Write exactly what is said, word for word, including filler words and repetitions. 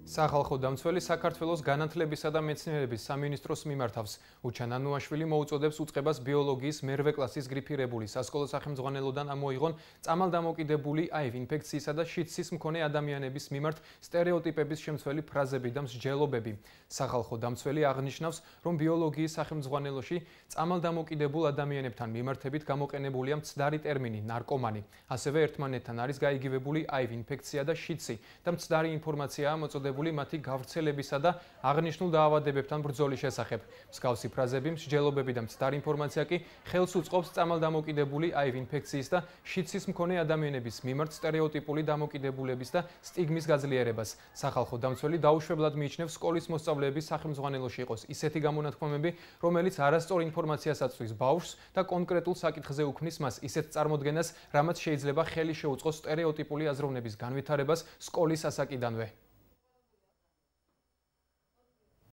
სახალხო დამცველი საქართველოს განათლებისა და მეცნიერების სამინისტროს მიმართავს. უჩან ანუაშვილი მოუწოდებს უწყებას ბიოლოგიის მერვე კლასის გრიფირებული სასკოლო სახელმძღვანელოდან ამოიღონ წამალდამოკიდებული აივ ინფექციისა და შიდსის მქონე ადამიანების მიმართ სტერეოტიპების შემცველი ფრაზები და მსჯელობები. სახალხო დამცველი აღნიშნავს, რომ ბიოლოგიის სახელმძღვანელოში წამალდამოკიდებულ ადამიანებთან მიმართებით გამოყენებულია მცდარი ტერმინი ნარკომანი. ასევე ერთმანეთთან არის გაიგივებული აივ ინფექცია და შიდსი და მცდარი ინფორმაციაა მოწოდებული მათი გავრცელებისა და აღნიშნულ დაავადებებთან ბრძოლის შესახებ. მსგავსი ფრაზები, მსჯელობები და მცდარი ინფორმაცია კი ხელს უწყობს წამალდამოკიდებული აივ ინფექციის და შიდსის მქონე ადამიანების მიმართ სტერეოტიპული დამოკიდებულების და სტიგმის გაძლიერებას. სახალხო დამცველი დაუშვებლად მიიჩნევს სკოლის მოსწავლეების სახელმძღვანელოში იყოს ისეთი გამონათქვამები, რომელიც არასწორ ინფორმაციას აწვდის ბავშვს და კონკრეტულ საკითხზე უქმნის მას ისეთ წარმოდგენას, რამაც შეიძლება ხელი შეუწყოს სტერეოტიპული აზროვნების განვითარებას სკოლის ასაკიდანვე.